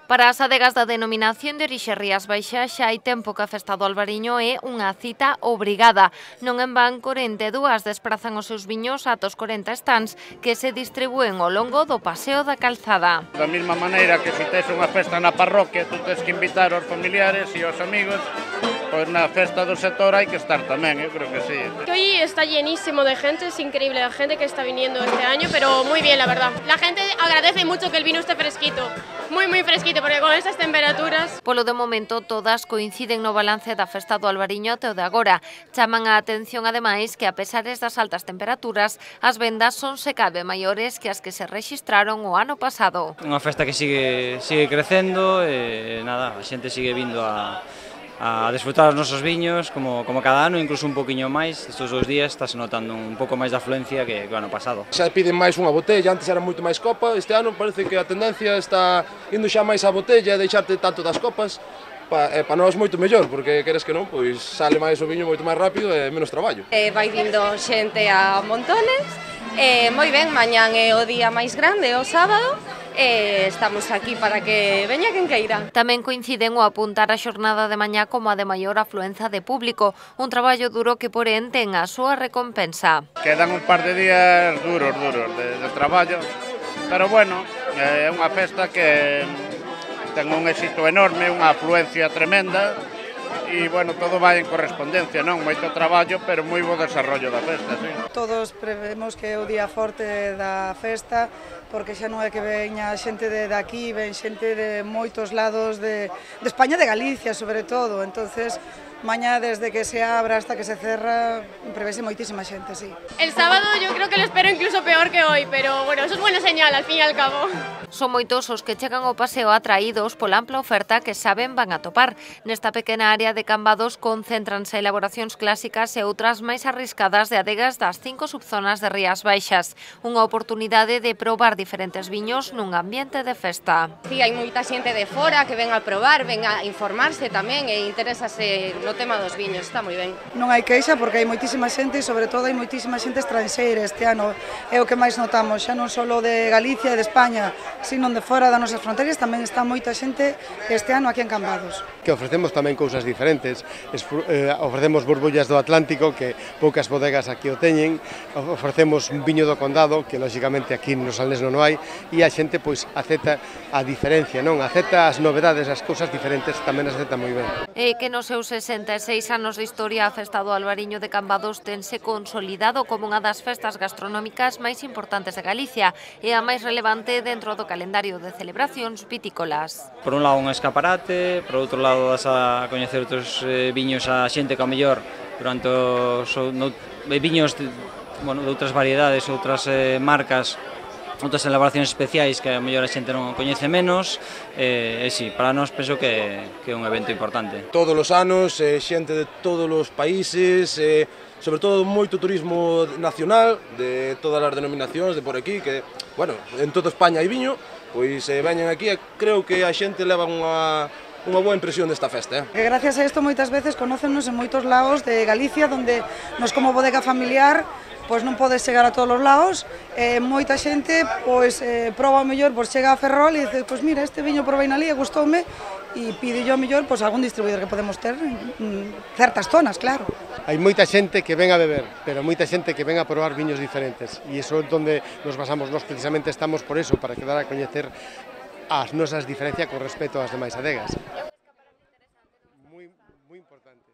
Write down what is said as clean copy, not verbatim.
Para as adegas da denominación de orixe Rías Baixas xa hai tempo que a festa do Albariño é unha cita obrigada. Non en van 42 desprazan os seus viños ata os 40 stands que se distribúen ao longo do Paseo da Calzada. Da mesma maneira que se tes unha festa na parroquia, tú tens que invitar aos familiares e aos amigos, pois na festa do sector hai que estar tamén, eu creo que sí. Hoy está llenísimo de gente, es increíble la gente que está viniendo este año, pero muy bien la verdad. La gente agradece mucho que el vino esté fresquito, muy fresquito, porque con estas temperaturas... Polo de momento todas coinciden no balance da festa do Albariño até o de agora. Chaman a atención ademais que a pesares das altas temperaturas, as vendas son se cabe maiores que as que se rexistraron o ano pasado. Unha festa que sigue crecendo e nada, a xente sigue vindo a desfrutar os nosos viños como cada ano, incluso un poquinho máis. Estes 2 días está se notando un pouco máis de afluencia que o ano pasado. Xa piden máis unha botella, antes era moito máis copa, este ano parece que a tendencia está indo xa máis a botella e deixarte tanto das copas. Para nós moito mellor, porque queres que non, pois sale máis o viño moito máis rápido e menos traballo. Vai vindo xente a montones, moi ben, mañán é o día máis grande, o sábado, estamos aquí para que veña quen queira. Tamén coinciden o apuntar a xornada de mañá como a de maior afluenza de público, un traballo duro que porén ten a súa recompensa. Quedan un par de días duros de traballo, pero bueno, é unha festa que ten un éxito enorme, unha afluencia tremenda e, bueno, todo vai en correspondencia, non? Moito traballo, pero moi bo desarrollo da festa, sí. Todos prevemos que é o día forte da festa, porque xa non é que veña xente de aquí, ven xente de moitos lados de España, de Galicia, sobre todo. Entonces, mañá, desde que se abra hasta que se cerra, prevese moitísima xente, sí. El sábado yo creo que lo espero incluso peor que hoy, pero bueno, eso es buena señal al fin y al cabo. Son moitos os que chegan ao paseo atraídos pola ampla oferta que saben van a topar. Nesta pequena área de Cambados concéntranse elaboracións clásicas e outras máis arriscadas de adegas das 5 subzonas de Rías Baixas. Unha oportunidade de probar diferentes viños nun ambiente de festa. Sí, hai moita xente de fora que ven a probar, ven a informarse tamén e interésase no tema dos viños, está moi ben. Non hai queixa porque hai moitísima xente e sobre todo hai moitísima xente estranxeira este ano. É o que máis notamos, xa non só de Galicia e de España, sino de fora das nosas fronteiras, tamén está moita xente este ano aquí en Cambados. Que ofrecemos tamén cousas diferentes, ofrecemos borbullas do Atlántico, que poucas bodegas aquí o teñen, ofrecemos un viño do Condado, que lóxicamente aquí no Salnés non o hai, e a xente pois acepta a diferencia, non? Acepta as novedades, as cousas diferentes, tamén as acepta moi ben. E que nos seus 66 anos de historia a festa do Albariño de Cambados tense consolidado como unha das festas gastronómicas máis importantes de Galicia e a máis relevante dentro do calendario de celebracións vitícolas. Por un lado un escaparate, por outro lado das a coñecer outros viños a xente que ao mellor durante os viños de outras variedades, outras marcas, outras elaboracións especiais que a mellor a xente non coñece menos, e si, para nós penso que é un evento importante. Todos os anos, xente de todos os países, sobre todo moito turismo nacional, de todas as denominacións de por aquí, que, bueno, en toda España hai viño, pois veñen aquí e creo que a xente leva unha boa impresión desta festa. Que gracias a isto moitas veces conócennos en moitos lados de Galicia, donde nos como bodega familiar pois non podes chegar a todos os lados, moita xente pois proba o mellor, pois chega a Ferrol e dice, pois mira, este viño probei na lía, gustoume, e pide yo o mellor pois algún distribuidor que podemos ter en certas zonas, claro. Hai moita xente que ven a beber, pero moita xente que ven a probar viños diferentes, e iso é onde nos basamos, nós precisamente estamos por eso, para quedar a coñecer as nosas diferencias con respecto ás demais adegas. Moi importante.